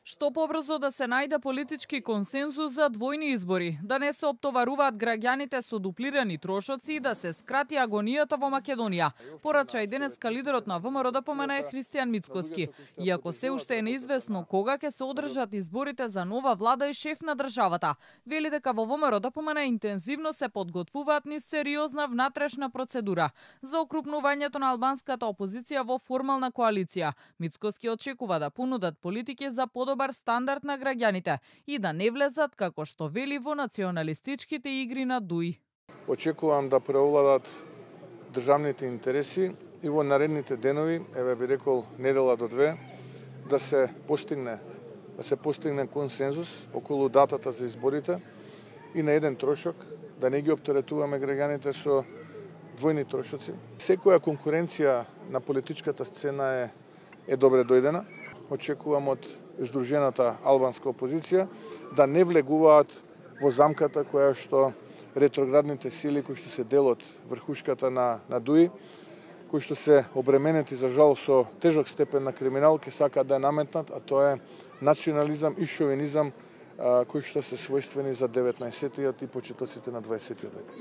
Што побрзо да се најде политички консензус за двојни избори, да не се оптоваруваат граѓаните со дуплирани трошоци и да се скрати агонијата во Македонија, порача и денеска лидерот на ВМРО ДПМН Христијан Мицкоски. Иако се уште е неизвестно кога ќе се одржат изборите за нова влада и шеф на државата, вели дека во ВМРО ДПМН интензивно се подготвуваат низ сериозна внатрешна процедура за окрупнувањето на албанската опозиција во формална коалиција. Мицкоски очекува да понудат политики за подобар стандард на граѓаните и да не влезат, како што вели, во националистичките игри на Дуј. Очекувам да преовладат државните интереси и во наредните денови, еве би рекол недела до две, да се постигне консензус околу датата за изборите и на еден трошок, да не ги оптеретуваме граѓаните со двојни трошоци. Секоја конкуренција на политичката сцена е добре дојдена. Очекувам од здружената албанска опозиција да не влегуваат во замката која што ретроградните сили кои што се дел од врхушката на Дуј, кои што се обременети за жал со тежок степен на криминал, ќе сакаат да наметнат, а тоа е национализам и шовинизам кои што се својствени за 19-тиот и почетоците на 20-тиот век.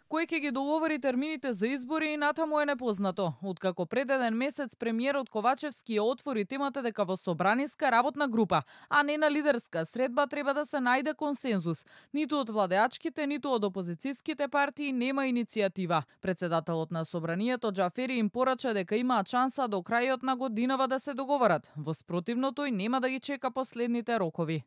Кој ќе ги договори термините за избори и натаму е непознато. Откако пред еден месец премиерот Ковачевски ја отвори темата дека во собраниска работна група, а не на лидерска средба, треба да се најде консензус. Ниту од владеачките, ниту од опозицијските партии нема иницијатива. Председателот на собранието Џафери им порача дека имаат шанса до крајот на годинава да се договорат. Во спротивно тој нема да ги чека последните рокови.